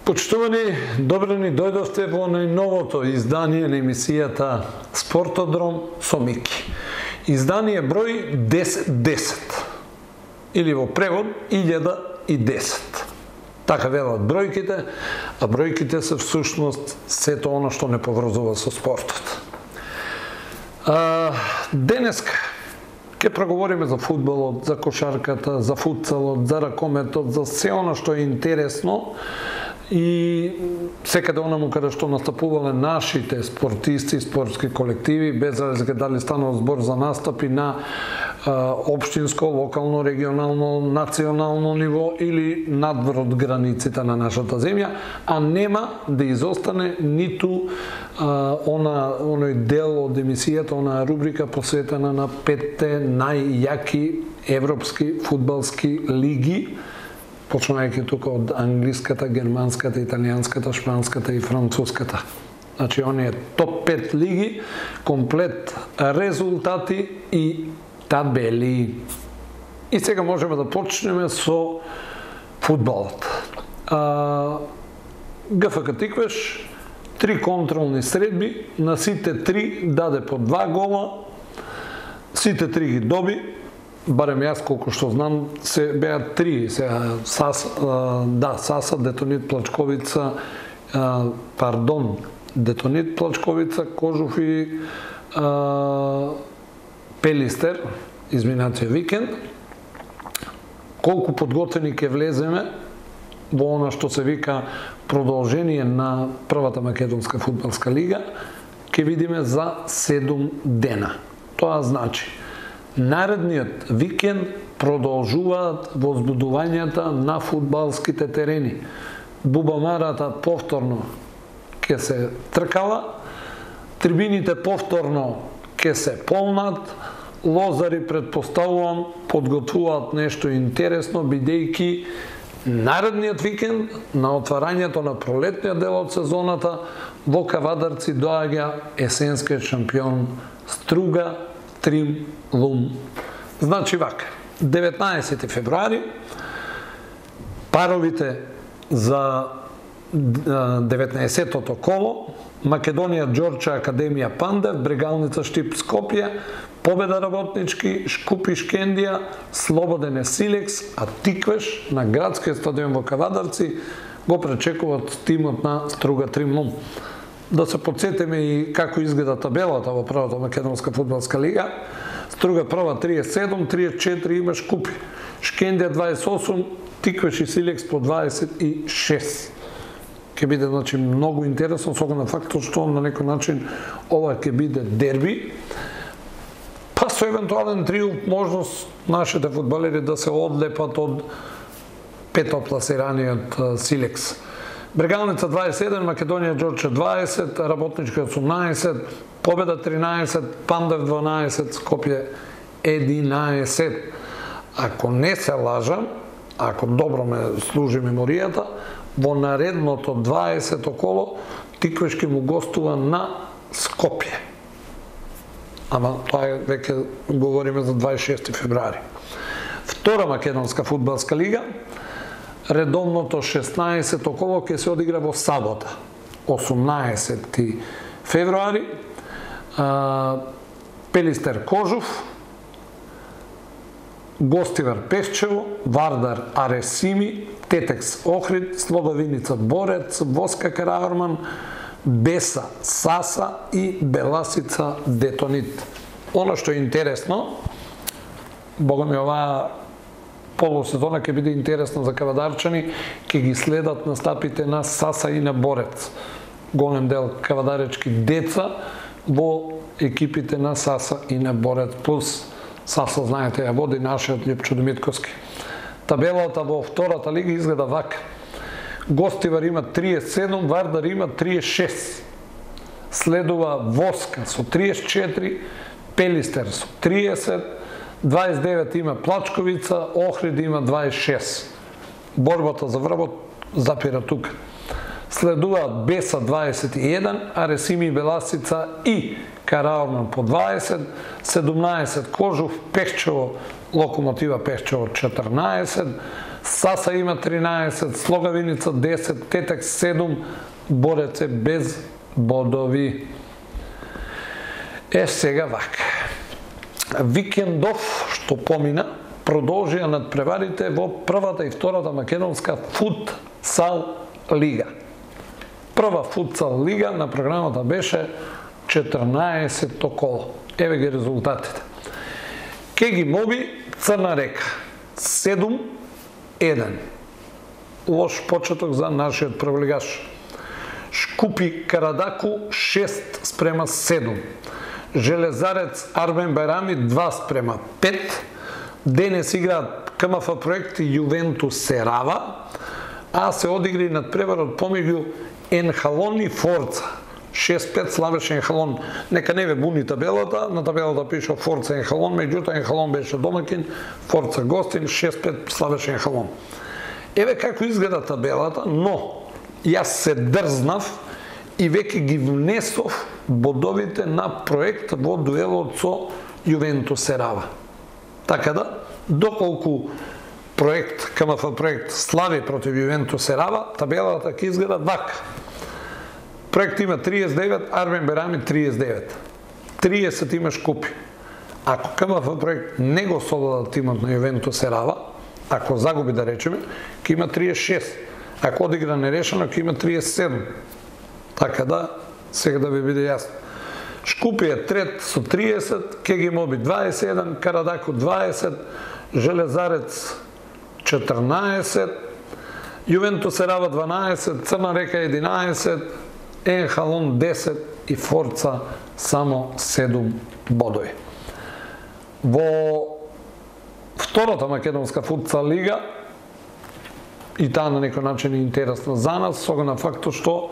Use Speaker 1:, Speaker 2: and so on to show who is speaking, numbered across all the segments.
Speaker 1: Почитувани, добре ни дојдовте во најновото издание на емисијата Спортодром со Мики. Издание број 1010 или во превод 1010. Така велат бројките, а бројките се всушност сето она што не поврзува со спортот. Денеска ќе проговориме за фудбалот, за кошарката, за футсалот, за ракометот, за се она што е интересно и секаде онаму каде што настапувале нашите спортисти, спортски колективи, без разлика дали станува збор за настапи на општинско, локално, регионално, национално ниво или надвор од границите на нашата земја, а нема да изостане ниту оној дел од емисијата, онаа рубрика посветена на 5 најјаки европски фудбалски лиги, почнувајќи тука од англиската, германската, италијанската, шпанската и француската. Значи, оние топ 5 лиги, комплет резултати и табели. И сега можеме да почнеме со фудбалот. ГФК Тиквеш, 3 контролни средби, на сите 3 даде по 2 гола, сите 3 ги доби, барем јас колку што знам, се беа 3, сега Саса, Детонит, Плачковица, Детонит, Плачковица, Кожуф и Пелистер, изминатиот викенд. Колку подготвени ќе влеземе во она што се вика продолжение на првата македонска фудбалска лига, ќе видиме за 7 дена. Тоа значи наредниот викенд продолжуваат возбудувањата на фудбалските терени. Бубамарата повторно ќе се тркала, трибините повторно ќе се полнат, лозари, предпоставувам, подготвуваат нешто интересно, бидејќи наредниот викенд на отварањето на пролетниот дел од сезоната во Кавадарци доаѓа есенскиот шампион Струга Трим Лум. Значи вака, 19 февруари, паровите за 19-тото коло, Македонија Ѓорче Академија Пандев, Брегалница Штип Скопје, Победа Работнички, Шкупи Шкендија, Слободен Силекс, а Тиквеш на градскиот стадион во Кавадарци го пречекуваат тимот на Струга Трим Лум. Да се подсетиме и како изгледа табелата во првата македонска фудбалска лига. Струга прва 37, 34 има Шкупи. Шкендија 28, Тиквеш и Силекс по 26. Ќе биде значи многу интересно со оглед на фактот што на некој начин ова ќе биде дерби. Па со евентуален триумф можност нашите фудбалери да се одлепат од петопласираниот Силекс. Брегалница 27, Македонија Ѓорче 20, Работничка 18, Победа 13, Пандев 12, Скопје 11. Ако не се лажам, ако добро ме служи меморијата, во наредното 20-то коло Тиквешки му гостува на Скопје. Ама тоа е веќе говориме за 26 февруари. Втора македонска фудбалска лига, редовното 16-то коло ќе се одигра во сабота, 18 февруари. Пелистер Кожуф, Гостивар Пешчево, Вардар Аресими, Тетекс Охрид, Слободиница Борец, Воска Караорман, Беса Саса и Беласица Детонит. Оно што е интересно, бога ми оваа полусезона ќе биде интересно за кавадарчани, ќе ги следат настапите на Саса и на Борец. Голем дел кавадаречки деца во екипите на Саса и на Борец, плюс Саса, знаете, ја води нашиот Лјупчо Димитковски. Табелата во втората лига изгледа вака. Гостивар има 37, Вардар има 36. следува Воска со 34, Пелистер со 30, 29 има Плачковица, Охрид има 26. Борбата за врвот запира тука. Следуваат Беса 21, Аресими и Беласица и Караорман по 20, 17 Кожув, Пехчево, Локомотива Пехчево 14, Саса има 13, Слогавиница 10, Тетек 7, Борец е без бодови. Сега вака. Викендов, што помина, продолжија надпреварите во првата и втората македонска футсал лига. Прва футсал лига на програмата беше 14-то коло. Еве ги резултатите. Кеги Моби, Црна Река 7-1. Лош почеток за нашиот првлигаш. Шкупи Карадаку 6-7. Железарец Арбен Байрами 2-5. Денес играат КМФ проект и Јувентус Серава, а се одигри надпреварот помеѓу Енхалон и Форца. 6-5 славеше Енхалон. Нека не ве буни табелата, на табелата пише Форца Енхалон, меѓутоа Енхалон беше домакин, Форца гостин, 6-5 славеше Енхалон. Еве како изгледа табелата, но јас се дрзнав и веќе ги внесов бодовите на проект во дуелот со Јувентус Серава. Така да, доколку проект, КМФ проект слави против Јувентус Серава, табелата ќе изгледа вака. Проект има 39, Арбен Байрами 39. 30 има Шкупи. Ако КМФ проект не го совлада тимот на Јувентус Серава, ако загуби да речеме, ќе има 36. Ако одигра нерешено, ќе има 37. Така да, сега да ви биде јасно. Шкупи е трет со 30, Кеги Моби 21, Карадаку 20, Железарец 14, Јувентус Серава 12, Црна Река 11, Енхалон 10 и Форца само 7 бодови. Во втората македонска футсал лига, и таа на некој начин е интересна за нас, со на фактот што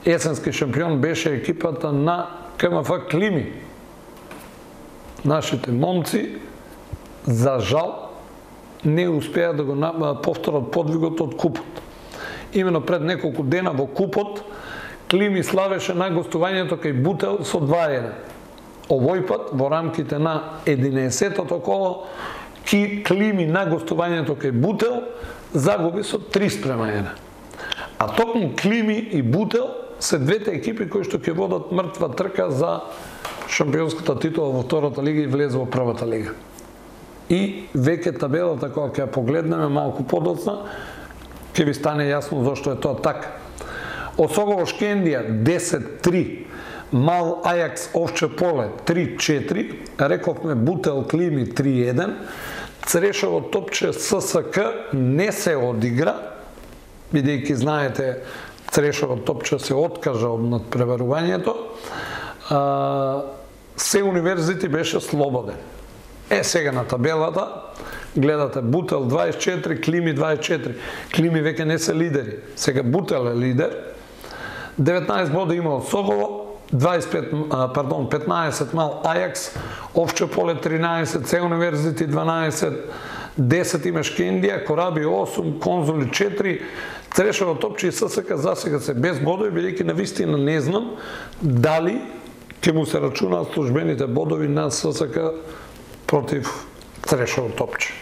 Speaker 1: есенски шампион беше екипата на КМФ Клими. Нашите момци, за жал, не успеа да го повторат подвигот од купот. Имено пред неколку дена во купот, Клими славеше на гостувањето кај Бутел со 2-1. Овој пат, во рамките на 11-тото коло, Клими на гостувањето кај Бутел загуби со 3-1. А токму Клими и Бутел се двете екипи кои што ќе водат мртва трка за шампионската титула во втората лига и влез во првата лига. И веќе табелата, кога ќе ја погледнеме малку подоцна, ќе ви стане јасно зошто е тоа така. Осогово Шкендија 10-3, Мал Ајакс Овче Поле 3-4, рековме Бутел Клими 3-1, Црешово Топче ССК не се одигра, бидејќи знаете Црешово Топче се откажа од надпреварувањето, Се универзити беше слободен. Сега на табелата гледате Бутел 24, Клими 24. Клими веќе не се лидери. Сега Бутел е лидер. 19 бода има од Согово, 15 Мал Ајакс, Овче Поле 13, Се универзити 12, 10 има Шкендија, Кораби 8, Конзули 4, Црешово Топче и ССК за сега се без бодови, бидејќи навистина не знам дали ќе му се рачунаат службените бодови на ССК против Црешово Топче.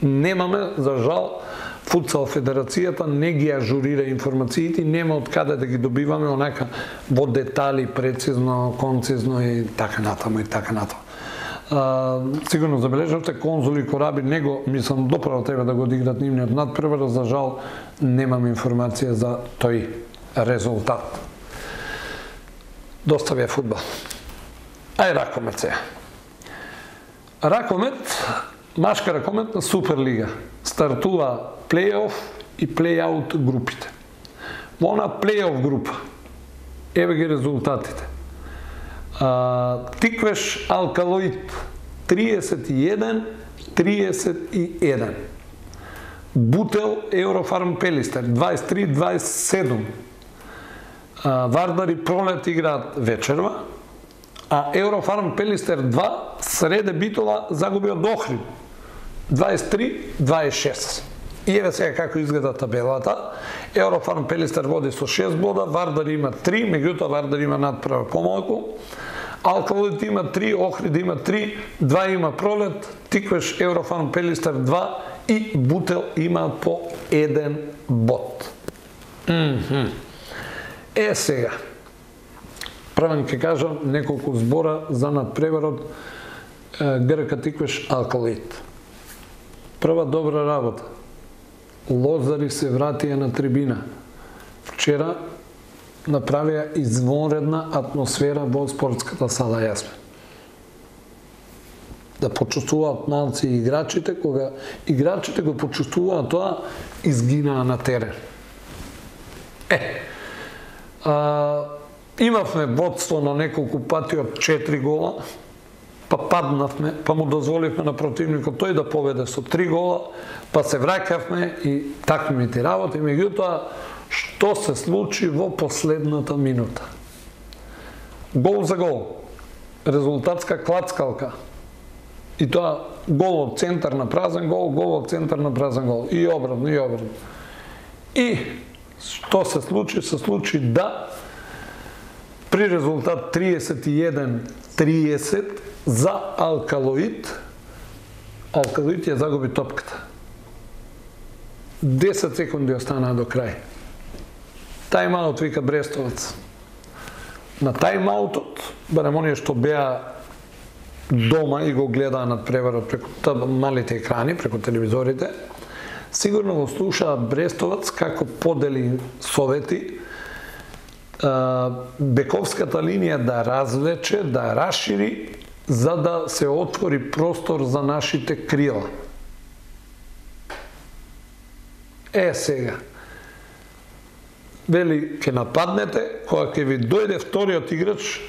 Speaker 1: Немаме, за жал, Футсал Федерацијата не ги ажурира информациите, нема од каде да ги добиваме онака во детали, прецизно, концизно и така натаму и така натаму. Сигурно забележавте, Конзули и Кораби него, мислам, доправо треба да го одиграт нивниот надпревар, за жал немам информација за тој резултат. Доста ви е фудбал. Ај ракомет сега. Ракомет, машка ракомет на Суперлига. Стартува плей-оф и плей-аут групите. Во она плей-оф група, еве ги резултатите. Тиквеш Алкалоид 31-31. Бутел Еврофарм Пелистер 23-27. Вардар и Пролет играат вечерва, а Еврофарм Пелистер 2 среде Битола загуби од Охрид 23-26. И еве сега како изгледа табелата. Еврофарм Пелистер води со 6 бода, Вардар има 3, меѓутоа Вардар има надпревар помалку. Алкалоид има 3, Охрид има 3, 2 има Пролет, Тиквеш, Еврофарм Пелистер 2 и Бутел има по 1 бод. Сега, правен ќе кажам неколку збора за надпреварот ГРК Тиквеш Алкалоид. Прва добра работа. Лозари се вратија на трибина. Вчера направија извонредна атмосфера во спортската сала Јасмин. Да почувствуваат малци играчите, кога играчите го почувствуваат тоа, изгинаа на терен. Имавме водство на неколку пати од 4 гола, па паднавме, па му дозволивме на противникот тој да победе со 3 гола, па се враќавме и такмите работи, меѓутоа што се случи во последната минута? Гол за гол, резултатска клацкалка, и тоа гол од центар на празен гол, гол од центар на празен гол, и обратно, и обратно. И што се случи? Се случи да при резултат 31-30 за Алкалоид, Алкалоид ја загуби топката. 10 секунди останаа до крај. Тајм-аут вика Брестовац. На тајм-аутот, барем оние што беа дома и го гледаа надпреварот преку малите екрани, преку телевизорите, сигурно го слушаа Брестовац како подели совети бековската линија да развлече, да расшири, за да се отвори простор за нашите крила. Сега. Вели, ќе нападнете, кога ќе ви дојде вториот играч,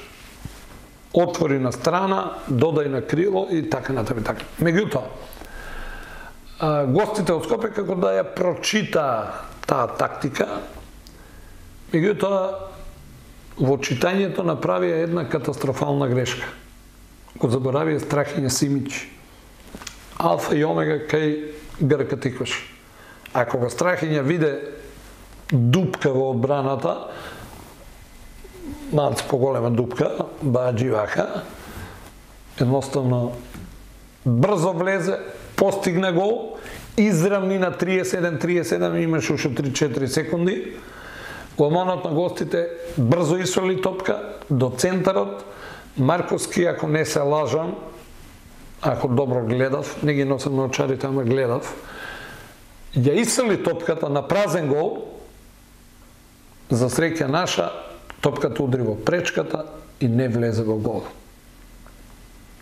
Speaker 1: отвори на страна, додај на крило и така натаму и така. Меѓутоа, гостите од Скопје како да ја прочита таа тактика, меѓутоа во читањето направија една катастрофална грешка. Го заборавија Страхиња Симиќ, алфа и омега кај ГРК Тиквеш. А кога Страхиња виде дупка во одбраната, малце поголема дупка, баџи вака, едноставно брзо влезе, постигна гол, изравни на 37-37, имаше уште 3-4 секунди. Голманот на гостите брзо исфрли топка до центарот. Марковски, ако не се лажам, ако добро гледав, не ги носам на очарите, ама гледав, ја исфрли топката на празен гол, за среќа наша, топката удри во пречката и не влезе во гол.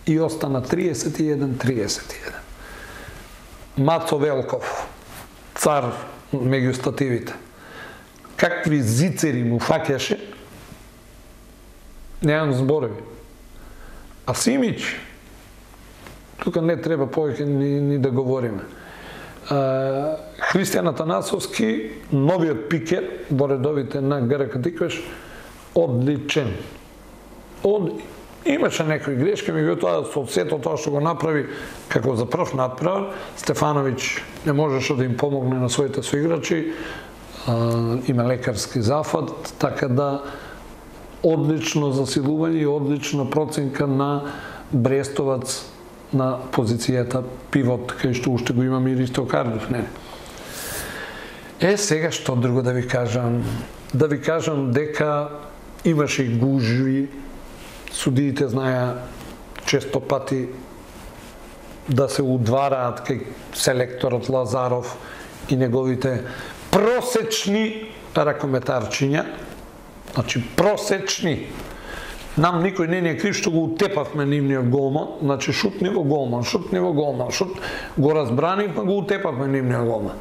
Speaker 1: И остана 31-31. Мацо Велков, цар меѓу стативите, какви зицери му фаќаше, немам зборови. А Симиќ, тука не треба повеќе ни да говориме. Христијан Атанасовски, новиот пикер во редовите на ГРК Тиквеш, одличен. Имаше некои грешки, меѓутоа со сето тоа што го направи како за прв надпревар, Стефановиќ не можеше да им помогне на своите соиграчи, има лекарски зафат, така да одлично засилување и одлична проценка на Брестовац на позицијата пивот, кај што уште го имаме и Ристо Кардов, не? Сега што друго да ви кажам? Да ви кажам дека имаше и гужви, судиите знаеа често пати да се удвараат кај селекторот Лазаров и неговите просечни ракометарчиња, значи просечни. Нам никој не е крив што го утепавме нивниот голман, значи шутни во голман, шутни во голман, го разбранивме, го утепавме нивниот голман.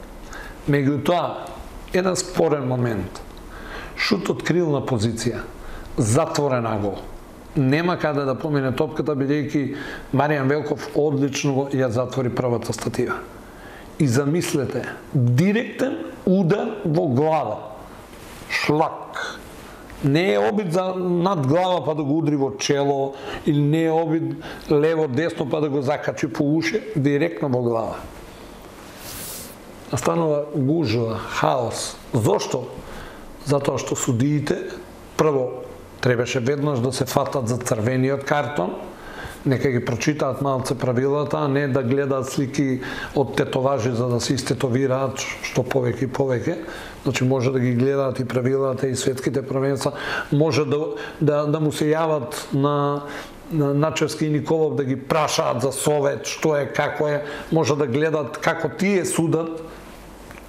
Speaker 1: Меѓутоа, еден спорен момент. Шутот крилна позиција, затворена гол. Нема каде да помине топката, бидејќи Маријан Велков одлично ја затвори првата статива. И замислете, директен удар во глава. Шлак. Не е обид за над глава па да го удри во чело, или не е обид лево-десно па да го закачи по уши, директно во глава. Настанува гужва, хаос. Зошто? Затоа што судиите, прво, требаше веднаш да се фатат за црвениот картон, нека ги прочитаат малце правилата, а не да гледаат слики од тетоважи за да се истетовираат што повеќе и повеќе. Значи може да ги гледаат и правилата и светските првенства, може да му се јават на Начевски и Николов да ги прашаат за совет, што е, како е, може да гледаат како тие судат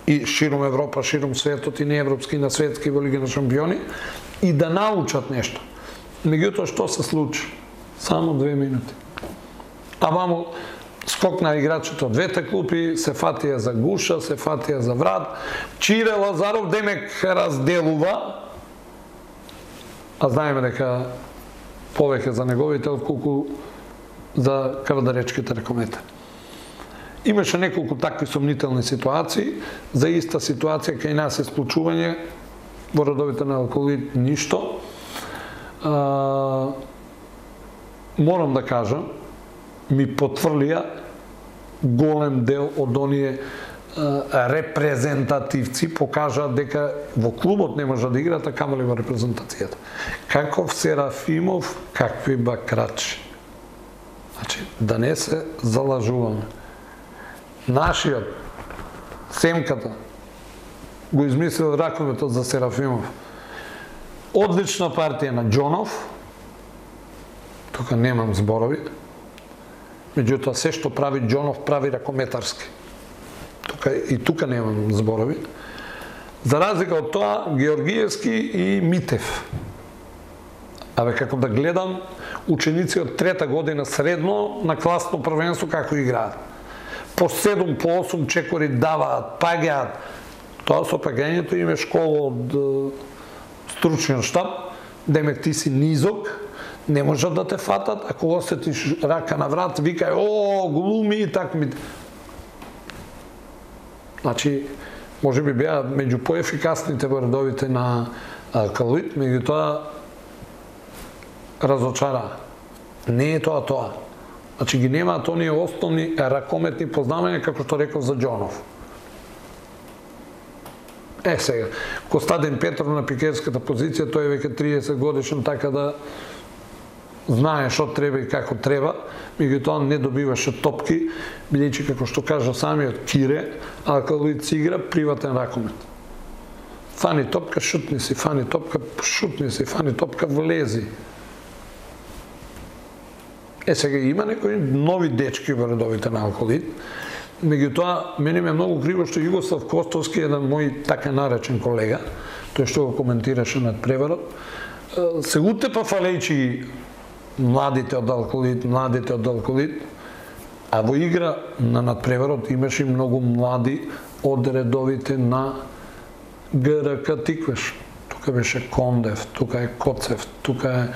Speaker 1: и широм Европа, широм светот, и не европски, и на светски, во Лига на шампиони, и да научат нешто. Меѓутоа, што се случи? Само 2 минути. А вамо скокна играчите од двете клупи, се фатија за гуша, се фатија за врат. Чире Лазаров демек разделува, а знаеме дека повеќе за неговите отколку за кавадаречките ракометари. Имаше неколку такви сомнителни ситуации, за иста ситуација кај нас исклучување во редовите на алкоолит ништо. Морам да кажам, ми потврлија голем дел од оние репрезентативци, покажаат дека во клубот не може да играат, а камали во репрезентацијата. Каков Серафимов, какви бакрачи. Значи, да не се залажуваме. Нашиот Семката го измислил ракометот за Серафимов. Одлична партија на Џонов, тука немам зборови, меѓутоа се што прави Џонов прави ракометарски. Тука немам зборови. За разлика од тоа, Георгиевски и Митев. Абе, како да гледам ученици од 3-та година средно на класно првенство како играат. По 7, по 8 чекори даваат, паѓаат. Тоа со паѓањето им е школа од стручен штаб, демек ти си низок, не можат да те фатат, ако осетиш рака на врат, викај, о, глуми и так ми. Значи, може би беа меѓу поефикасните во редовите на алкалоид, меѓутоа разочара. Не е тоа. Значи ги немаат оние основни ракометни познавања, како што реков за Џонов. Сега, Костадин Петров на пикерската позиција, тој е веќе 30 годишен, така да знае што треба и како треба, меѓутоа не добиваше топки, бидејќи како што кажа самиот Кире, алкалоид си игра приватен ракомет. Фани топка, шутни си, фани топка, шутни си, фани топка, влези. Сега има некои нови дечки во редовите на алкалоид, меѓутоа мене ми е многу криво што Југослав Костовски, еден мој така наречен колега, тој што го коментираше над преварот, се утепа фалејчи младите од алкалоид, а во игра на надпреварот имаше многу млади од редовите на ГРК Тиквеш. Тука беше Кондев, тука е Коцев, тука е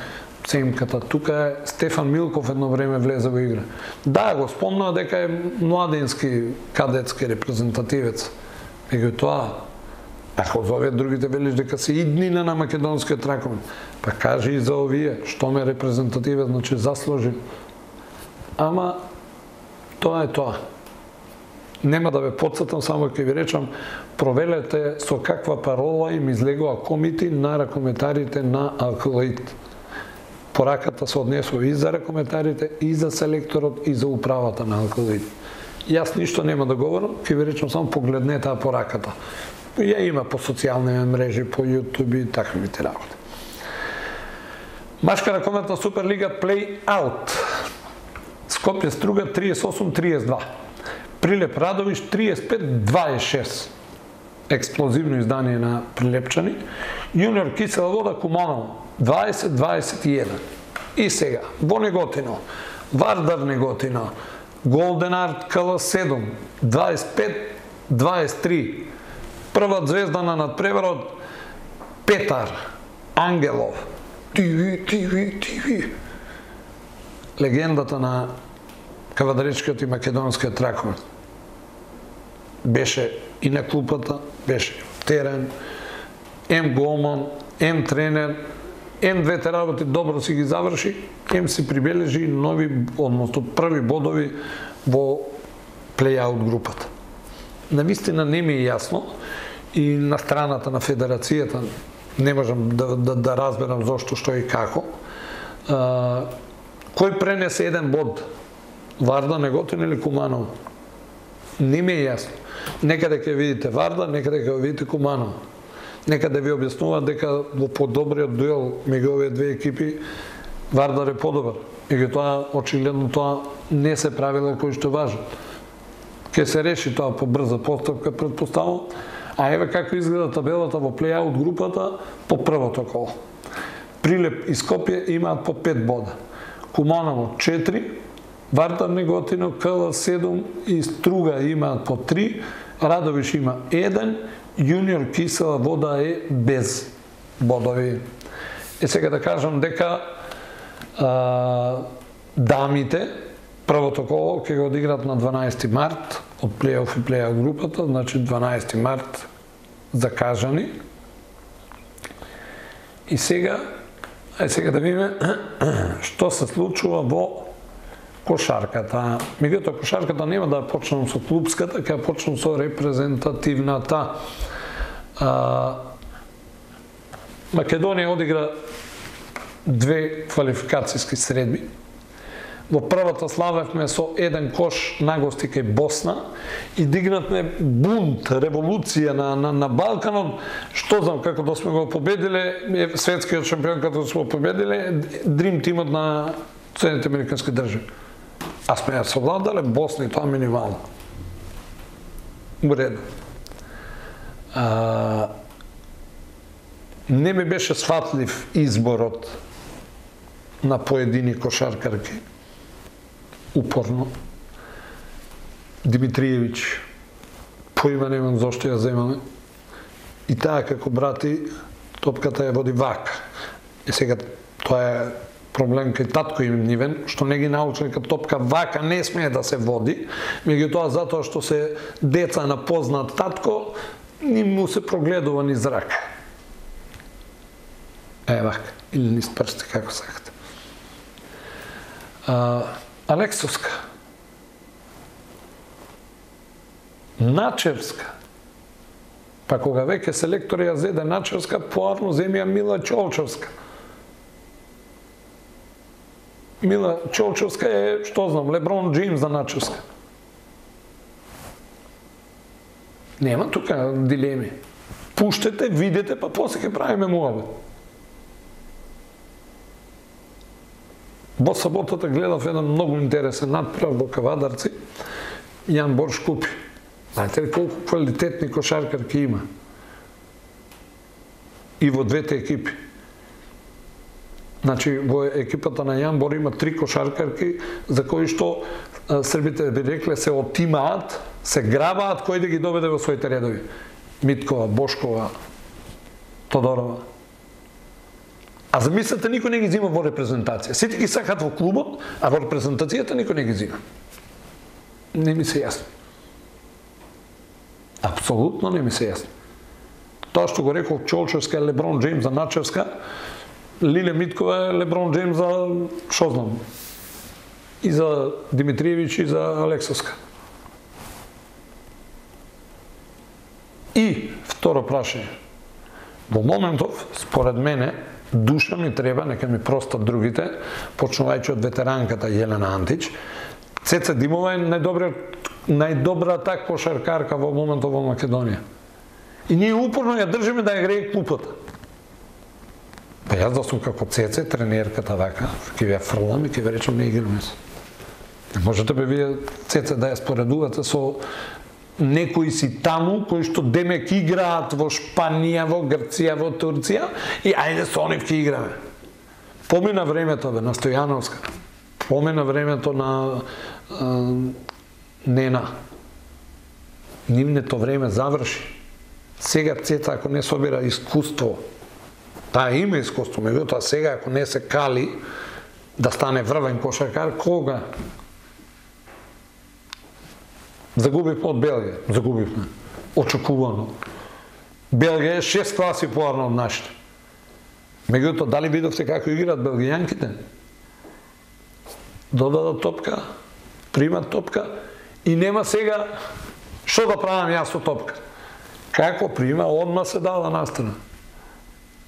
Speaker 1: Семката, тука е Стефан Милков едно време влезе во игра. Да, го спомнаа дека е младински, кадетски репрезентативец. Меѓутоа, ако за овие другите велиш дека се иднина на македонскиот ракомет, па кажи и за овие, што ме репрезентативец, значи заслужи. Ама, тоа е тоа. Нема да ве подсетам, само ќе ви речам, провелете со каква парола им излегува комити на ракометарите на алкалоид. Пораката се однесува и за ракометарите, и за селекторот, и за управата на алкалоид. Јас ништо нема да говорам, ќе ви речам само погледнете пораката. Ја има по социјални мрежи, по YouTube и таквите работи. Машка ракометна Суперлига плей-аут. Скопје Струга 38-32. Прилеп Радовиш 35-26. Експлозивно издание на прилепчани. Јуниор Кисела Вода Куманово 20-21. И сега, во Неготино, Вардар Неготино, Голден Арт КЛ7 25-23. Прва звезда на надпреварот Петар Ангелов. Тиви. Легендата на кавадаречкиот и македонскиот ракомет. Беше и на клупата, беше терен, голман, ем тренер, ем двете работи добро си ги заврши, ем си прибележи нови, односно први бодови во плей-аут групата. Навистина не ми е јасно и на страната на федерацијата не можам да разберам зошто, што и како. Кој пренесе еден bod? Варда, Неготин или Куманово? Не ми е јасно. Некаде ќе видите Варда, некаде ќе видите Куманово. Некаде ви објаснуваат дека во подобриот дуел меѓу овие две екипи Вардар е подобар. Меѓутоа, очигледно тоа не се правила кои што важат. Ке се реши тоа по брза постапка, предпоставам. А еве како изгледа табелата во плей-аут групата по првото коло. Прилеп и Скопје имаат по 5 бода. Куманово 4, Вардар, Неготино, КЛ 7 и Струга имаат по 3, Радовиш има 1, Јуниор Кисела Вода е без бодови. Сега да кажам дека дамите првото коло ќе го одиграат на 12 март од плей-оф и плей-аут групата, значи 12 март закажани. И сега да видиме што се случува во кошарката. Меѓутоа кошарката нема да почнам со клубската, ќе почнам со репрезентативната. Македонија одигра 2 квалификацијски средби. Во првата славевме со 1 кош на гости кај Босна и дигнатме бунт, револуција на Балканот. Што знам, како да сме го победиле, светскиот шампион како да сме го победиле, дрим тимот на Соединените американски држави. А сме ја совладале Босна и тоа минимално. Уредно. Не ми беше сватлив изборот на поедини кошаркарки. Упорно. Димитриевиќ, поима немам зошто ја земаме. И таа како брати, топката ја води вака. И сега тоа е проблем кај татко им нивен, што не ги научили како топка вака не смее да се води, меѓутоа затоа што се деца на познат татко, ни му се прогледува низ рака. Вака, или низ прсти, како сакате. Алексовска, Начевска, па кога веќе селектор ја зеде Начевска, поарно земја Мила Чолчевска. Мила Чолчевска е, што знам, Леброн Джеймс за Начевска. Нема тука дилеми. Пуштете, видете, па после ќе правиме муабет. Во саботата гледав еден многу интересен надправ во Кавадарци. Јан Борш купи. Знаете ли колку квалитетни кошаркарки има? И во двете екипи. Значи, во екипата на Јан Бор има 3 кошаркарки за кои што србите би рекле се отимаат, се грабаат кој да ги доведе во своите редови. Миткова, Бошкова, Тодорова. А замислете, никој не ги зима во репрезентација. Сите ги сакат во клубот, а во репрезентацијата никој не ги зима. Не ми се јасно. Апсолутно не ми се јасно. Тоа што го рекол Чолчевска е Леброн Джеймс за Начевска, Лиле Миткова е Леброн Джеймс за, шо знам, и за Димитриевиќ и за Алексовска. И второ прашање. Во моментов, според мене, душа ми треба, нека ми простат другите, почнувајќи од ветеранката Јелена Антич. Цеца Димова е најдобрата кошаркарка во моментов во Македонија. И ние упорно ја држиме да ја грее клупата. Па јас да сум како Цеце, тренерката вака, ќе ви ја фрлам и ќе ви речам не играме се. Не можете бе вие Цеце да ја споредувате со некои си таму кои што демек играат во Шпанија, во Грција, во Турција и ајде со нив ќе играме. Помина времето бе на Стојановска. Помина времето на Нена. Нивнето време заврши. Сега Цеца ако не собира искуство, таа има искуство, меѓутоа сега ако не се кали да стане врвен кошаркар, кога? Загубивме од Белгија, загубивме. Очекувано. Белгија е 6 класи поарно од нашите. Меѓутоа, дали видовте како играат белгијанките? Додадат топка, примат топка и нема сега што да правам јас со топка. Како прима, одма се дава настрана.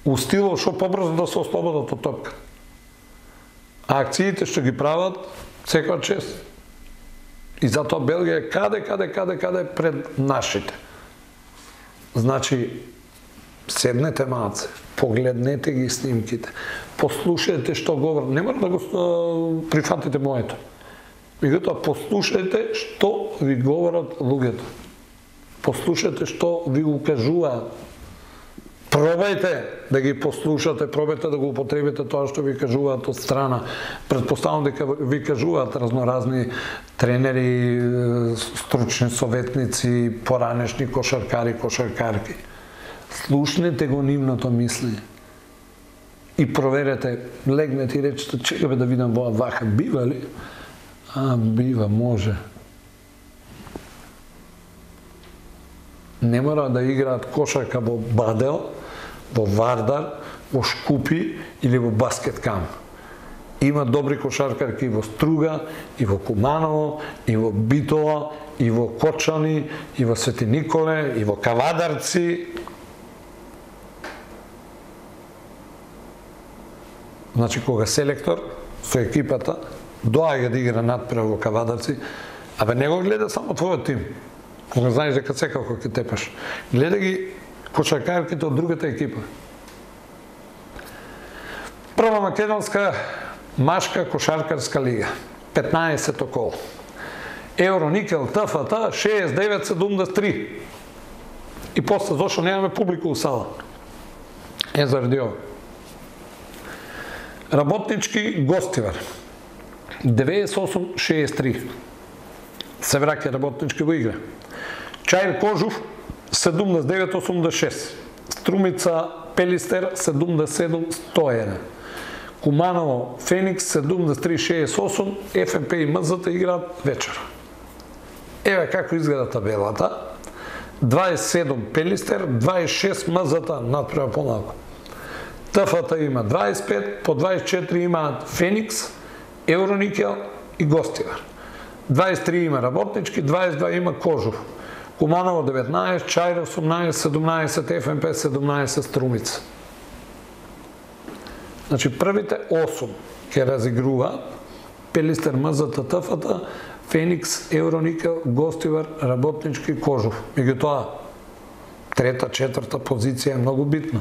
Speaker 1: У стилот што побрзо да се ослободат од топка. А акциите што ги прават, секоја чест. И затоа Белгија е каде пред нашите. Значи, седнете малце, погледнете ги снимките, послушајте што говорат, не мора да го прифатите моето. Меѓутоа, послушајте што ви говорат луѓето. Послушајте што ви укажуваат. Пробајте да ги послушате, пробајте да го употребите тоа што ви кажуваат од страна. Претпоставам дека ви кажуваат разноразни тренери, стручни советници, поранешни кошаркари, кошаркарки. Слушнете го нивното мислење. И проверете, легнете и речете, чекаме да видам вака, бива ли? Бива, може. Не мора да играат кошарка во Бадел, во Вардар, во Шкупи или во Баскеткам. Има добри кошаркарки во Струга, и во Куманово, и во Битола, и во Кочани, и во Свети Николе, и во Кавадарци. Значи, кога селектор со екипата доаѓа да игра надпрев во Кавадарци, не го гледа само твојот тим. Кога знаеш дека секако ќе тепаш. Гледа ги кошаркарките од другата екипа. Прва македонска машка кошаркарска лига. 15 кол. Евроникел ТФТ 69-73. И после зашо немаме публика у сала. Заради ова. Работнички Гостивар 98-63. Се враќа работнички во игра. Чаир Кожув 79-86. Струмица Пелистер 77-101. Куманово Феникс 73-68. ФНП и МЗТ играат вечер. Еве како изгледа табелата. 27 Пелистер, 26 МЗТ, надпрема помалку. ТФТ има 25, по 24 имаат Феникс, Евроникел и Гостивар. 23 има Работнички, 22 има Кожув. Куманово 19, Чаир 18, 17, ФНП 17, Струмица. Значи првите 8 ќе разигруваат Пелистер, МЗТ, ТФТ, Феникс, Евроникел, Гостивар, Работнички, Кожув. Меѓутоа, трета, четврта позиција е многу битна.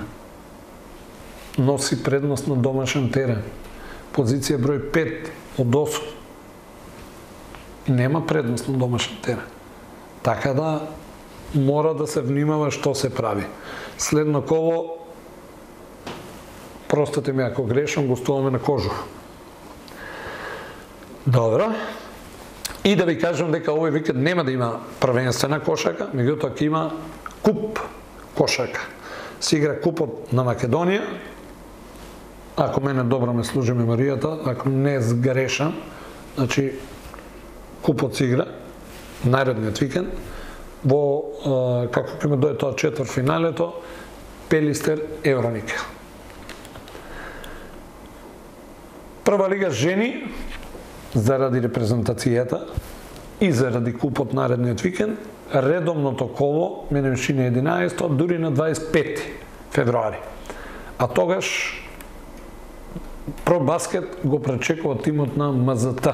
Speaker 1: Носи предност на домашен терен. Позиција број 5 од 8. Нема предност на домашен терен. Така да мора да се внимава што се прави. Следно коло, простете ми ако грешам, гостуваме на Кожув. Добро. И да ви кажам дека овој викенд нема да има првенствена кошарка, меѓутоа ќе има куп кошарка. Се игра купот на Македонија. Ако мене добро ме служи меморијата, ако не сгрешам, значи купот се игра наредниот викенд во како ќе ме дое тоа четвртфиналето Пелистер Евроникел. Прва лига жени заради репрезентацијата и заради купот наредниот викенд, редовното коло менемши на 11, дури на 25 февруари. А тогаш Про баскет го пречекува тимот на МЗТ.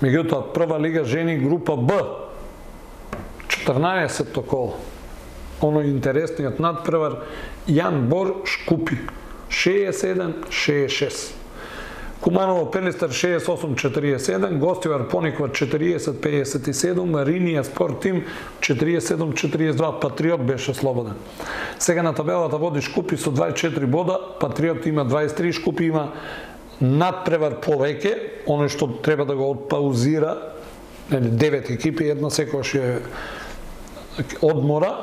Speaker 1: Меѓутоа, прва лига жени група Б, 14-то коло. Оној интересниот надпревар Јан Бор Шкупи, 67-66. Куманово Пелистер 68-47, Гостивар Пониква 40-57, Ринија Спорт Тим 47-42, Патриот беше слободен. Сега на табелата води Шкупи со 24 бода, Патриот има 23, Шкупи има надпревар повеќе, оној што треба да го отпаузира, 9 екипи, една секојаш е одмора,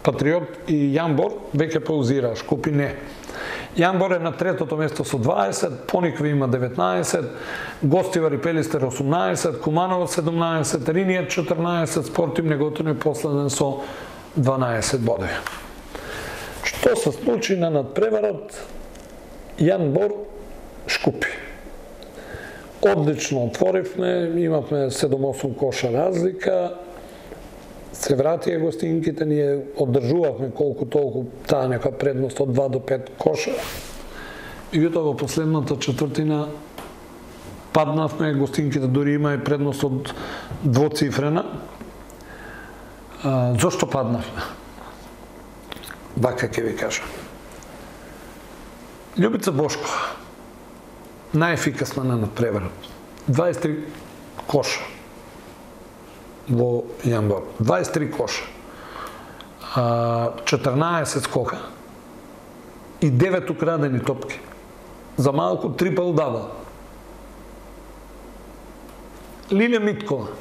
Speaker 1: Патриот и Јанбор веќе паузира, Шкупи не. Јанбор е на третото место со 20, Поникви има 19, Гостивар и Пелистер 18, Куманово 17, Ринија 14, Спортим Неготин е последен со 12 бодови. Што се случи на надпреварот? Јан Бор Шкупи. Одлично отворивме, имавме 7-8 коша разлика, се вратија гостинките, ние одржувавме колку толку таа нека предност од 2 до 5 коша. И во последната четвртина паднавме, гостинките дури има и предност од двоцифрена. Зошто паднавме? Вака ќе ви кажам. Љубица Бошкова, најефикасна на надпреварот. 23 коша во Јан Бор. 23 коша. 14 скока и 9 украдени топки. За малку трипл дабл. Лилја Миткова.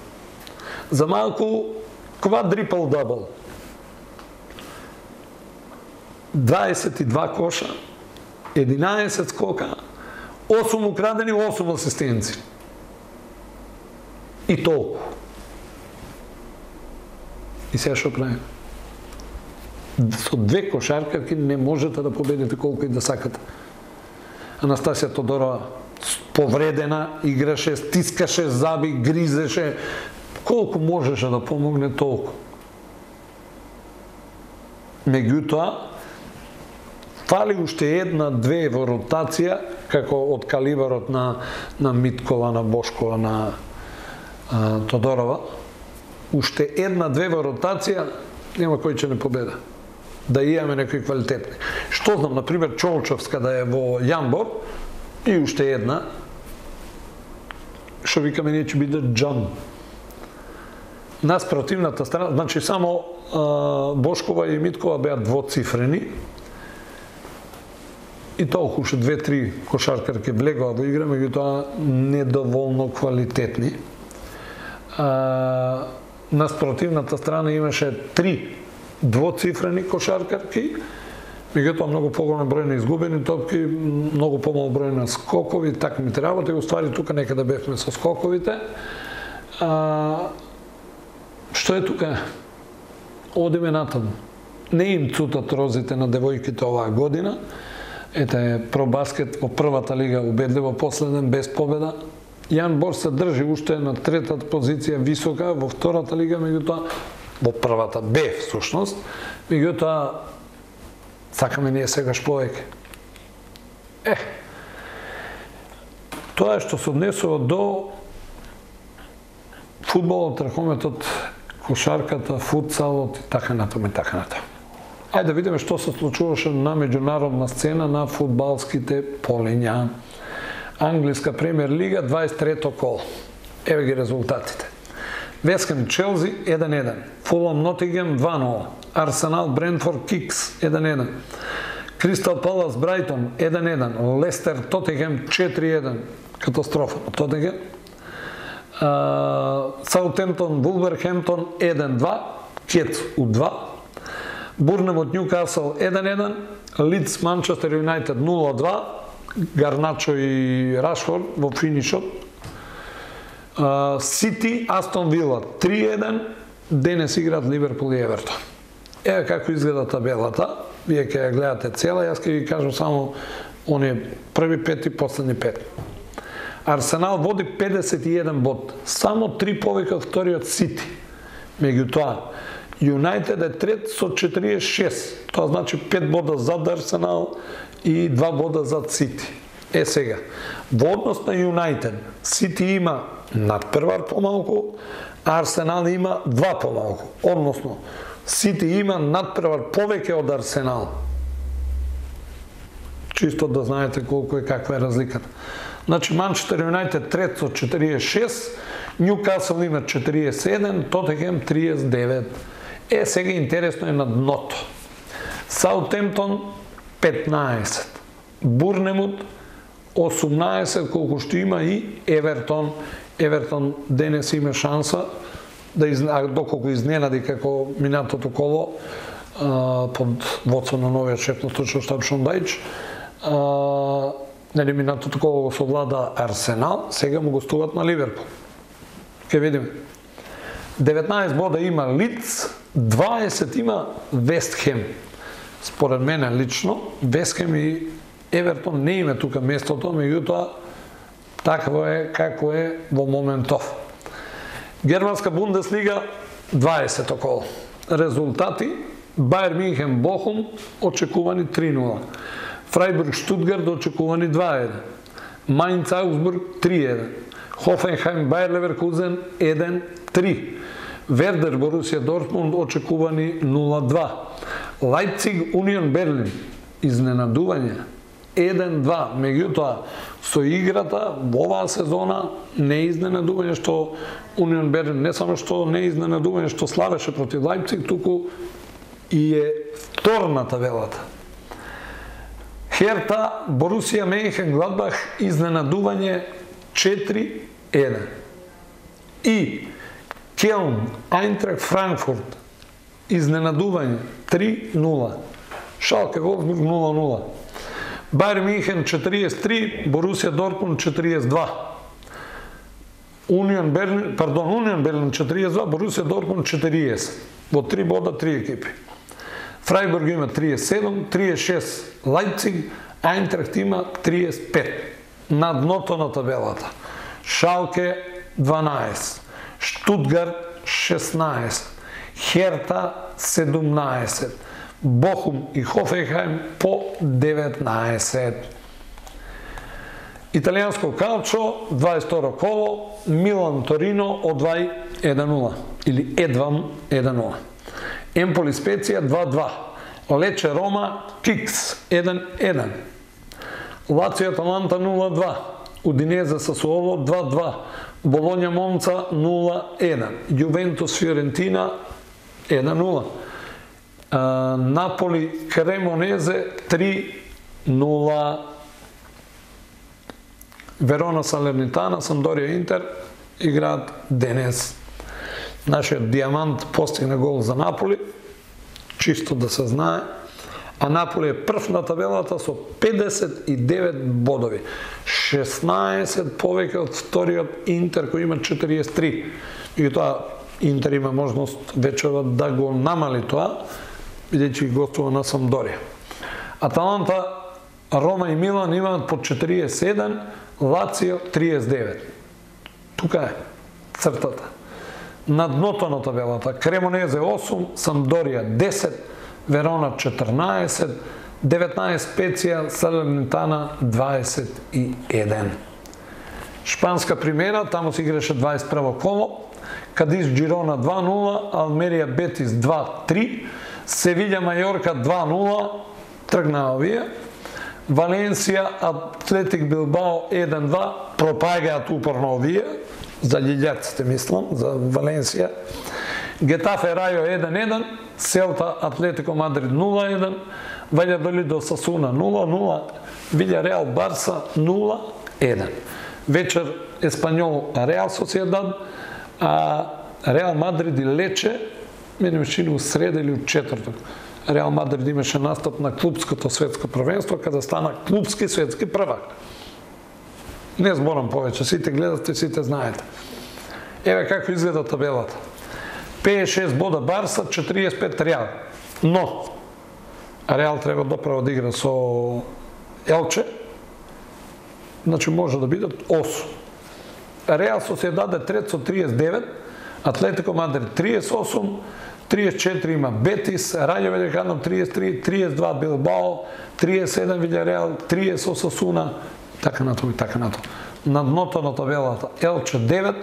Speaker 1: За малку квадрипл дабл. 22 коша, 11 скока, 8 украдени, 8 асистенци. И толку. И сега што правим? Со 2 кошаркарки не можете да победите колку и да сакате. Анастасија Тодорова повредена, играше, стискаше заби, гризеше. Колку можеше да помогне толку. Меѓутоа, фали уште една-две во ротација, како од калибарот на Миткова, на Бошкова, на Тодорова. Уште една-две во ротација, нема кој ќе не победа. Да имаме некои квалитетни. Што знам, например, Чолчовска да е во Јан Бор, и уште една, што викаме ние ќе биде Джан. Нас противната страна, значи само Бошкова и Миткова беа двоцифрени, и толку уште 2-3 кошаркарки влегоа во игра, меѓутоа недоволно квалитетни. На спротивната страна имаше 3 двоцифрени кошаркарки, меѓутоа многу поголем број на изгубени топки, многу помал број на скокови, така ми работи, уствари тука некаде бевме со скоковите. Што е тука? Одиме натаму. Не им цутат розите на девојките оваа година. Ете, пробаскет во првата лига убедливо последен, без победа. Јан Бор се држи уште на третата позиција висока, во втората лига, меѓутоа, во првата Б, всушност, меѓутоа, сакаме ние сегаш повеќе. Тоа е што се однесува до фудбалот, ракометот, кошарката, футсалот и така натаму и така натаму. Ајде да видиме што се случуваше на меѓународна сцена на фудбалските полиња. Англиска премиер лига, 23-то кол. Еве ги резултатите. Вест Хем Челси 1-1, Фулам Нотингем 2-0, Арсенал Брентфорд Кикс 1-1, Кристал Палас Брайтон 1-1, Лестер Тотенхем 4-1, катастрофа на Тотенхем, Саутемптон Вулверхемптон 1-2, Кетс У2, Бурнемут Ньюкасл 1-1, Лидс Манчестер Юнайтед 0-2, Гарначо и Рашфорд во финишот, Сити Астон Вила 3-1, денес играат Ливерпул и Евертон. Еве како изгледа табелата, вие ќе ја гледате цела, јас ќе ви кажам само оние први 5 и последни 5. Арсенал води 51 бод, само 3 повеќе од вториот Сити. Меѓутоа, Юнайтед е трет со 46, тоа значи 5 бода зад Арсенал и 2 бода зад Сити. Сега, во однос на Юнайтед, Сити има надпревар помалку, Арсенал има 2 помалку. Односно, Сити има надпревар повеќе од Арсенал. Чисто да знаете колку е, каква е разликата. Значи, Манчестер Юнайтед трет со 46, Ньюкасл има 47, Тотенхем 39. Сега интересно е на дното. Саутемптон 15, Бурнемут 18, колку што има и Евертон. Евертон денес има шанса, доколку изненади како минатото коло под водство на новиот шеф на стручен штаб Шон Дајч. Минатото коло го совлада Арсенал, сега му гостуваат на Ливерпул. Ке видиме. 19 бода има Лидс, 20 има Вест Хем. според мене лично, Весхем и Евертон не име тука местото, меѓутоа такво е како е во моментов. Германска Бундеслига 20 коло. Резултати: Бајер Минхен Бохум очекувани 3-0. Фрајбург Штутгарт очекувани 2-1. Мајнц Аугсбург 3-1. Хофенхајм Бајер Леверкузен 1-3. Вердер Борусија Дортмунд очекувани 0-2. Лајпциг Унион Берлин изненадување 1-2, меѓутоа со играта во оваа сезона не е изненадување што Унион Берлин не само што не е изненадување што славеше против Лајпциг, туку и е втор на табелата. Херта Борусија Менхен Гладбах изненадување 4-1. И Келн Ајнтрахт Франкфурт изненадување 3-0. Шалке Волфсбург 0-0. Бајер Минхен 43, Борусија Дортмунд 42. Унион Берлин 42, Борусија Дортмунд 40. Во 3 бода 3 екипи. Фрајбург има 37, 36 Лајпциг, Ајнтрахт има 35. На дното на табелата. Шалке 12, Штутгарт 16, Херта 17, Бохум и Хофенхајм по 19. Италијанско калчо 22 коло, Милан Торино одвај 1-0 или едвам 1-0. Емполи Специја 2-2. Лече Рома Кикс 1-1. Лацио Аталанта 0-2. Удинезе Сасуоло 2-2. Болоња Монца 0-1. Јувентус Фиорентина 1-0. Наполи Кремонезе 3-0. Верона Салернитана, Самдорија Интер играат денес. Нашиот Диамант постигна гол за Наполи, чисто да се знае. А Наполи е прв на табелата со 59 бодови. 16 повеќе од вториот Интер кој има 43. И тоа Интер има можност вечерот да го намали тоа, бидејќи гостува на Самдорија. Аталанта, Рома и Милан имаат по 47, Лацио 39. Тука е цртата. На дното на табелата Кремонезе 8, Самдорија 10, Верона 14, 19 Специја, Салернитана 21. Шпанска примера, таму се играше 21 коло, Кадис Джирона 2-0, Алмерија Бетис 2-3, Севиља Мајорка 2-0, тргнаа овие, Валенсија Атлетик Билбао 1-2, пропагаат упорно овие, за лилјаците мислам, за Валенсија. Гетафе Рајо 1-1, Селта Атлетико Мадрид 0-1, Ваљадолидо Сасуна 0-0, Вилјареал Барса 0-1. Вечер Еспањол Реал Сосиедад, а Реал Мадрид и Лече, мене ми чини у среда или у четврток. Реал Мадрид имаше настап на клубското светско првенство, каде стана клубски светски првак. Не зборам повеќе, сите гледате, сите знаете. Еве како изгледа табелата. 56 бода Барса, 45 Реал. Но, Реал треба доправо да игра со Елче, значи може да бидат 8. Реал Сосиедад е трет со 39, Атлетико Мадрид 38, 34 има Бетис, Рајо Ваљекано 33, 32 Билбао, 37 Вилјареал, 30 Осасуна, така натаму и така натаму. На дното на табелата Елче 9,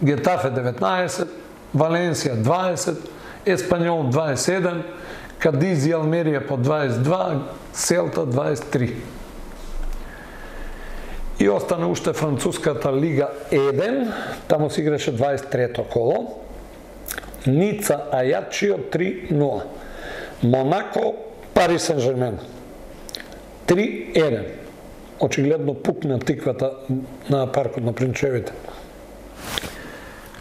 Speaker 1: Гетафе 19, Валенсија 20, Еспањол 21, Кадиз и Алмерија по 22, Селта 23. И остане уште француската Лига 1, таму се играше 23-то коло. Ница Ајачио 3-0. Монако Пари Сен-Жермен 3-1. Очигледно пукна тиквата на паркот на Принчевите.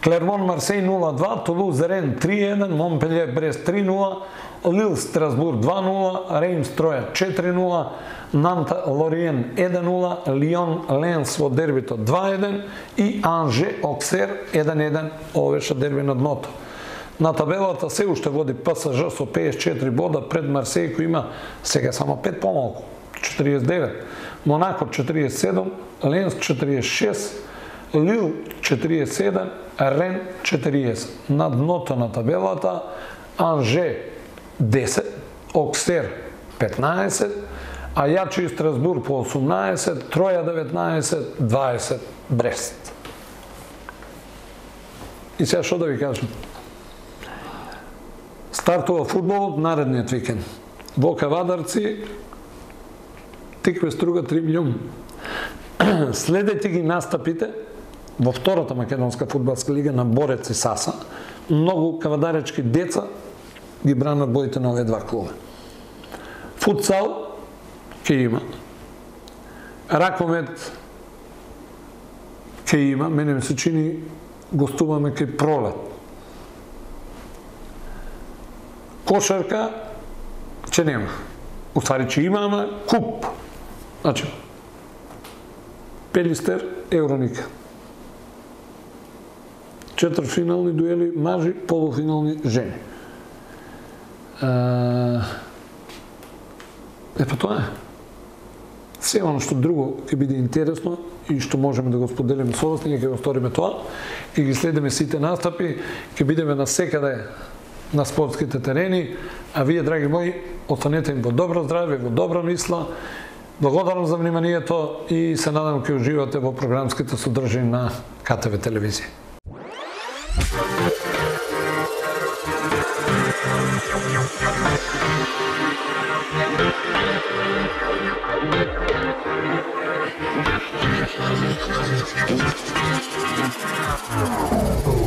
Speaker 1: Клермон Марсеј 0-2, Тулуз Рен 3-1, Монпелје Брест 3-0, Лил Страсбур 2-0, Реймс Троја 4-0, Нанта Лориен 1-0, Лион Ленс во дербито 2-1 и Анже Оксер 1-1, ова беше дерби на дното. На табелата се уште води ПСЖ со 54 бода, пред Марсеј кој има сега само 5 помалку, 49. Монако 47, Ленс 46, Лил 47, Рен 40. На дното на табелата Анже 10, Оксер 15, Ајачи и Страсбур по 18, Троја 19, 20 Брест. И сега што да ви кажам? Стартува фудбалот наредниот викенд. Во Кавадарци тикве струга 3 милиони. Следете ги настапите во втората македонска фудбалска лига на Борец и Саса. Многу кавадаречки деца ги бранат боите на овие два клуба. Футсал ќе има. Ракомет ќе има. Мене ми се чини гостуваме кај Пролет. Кошарка ќе нема. Уствари ќе има, ама куп. Значи, Пелистер, Евроника. Четвртфинални дуели мажи, полуфинални жени. Па тоа е. Се оно што друго ќе биде интересно и што можеме да го споделиме со вас, ние ќе го сториме тоа, ќе ги следиме сите настапи, ќе бидеме насекаде на спортските терени, а вие, драги мои, останете им во добро здравје, во добра мисла. Благодарам за вниманието и се надам ќе уживате во програмските содржини на КТВ телевизија.
Speaker 2: Oh.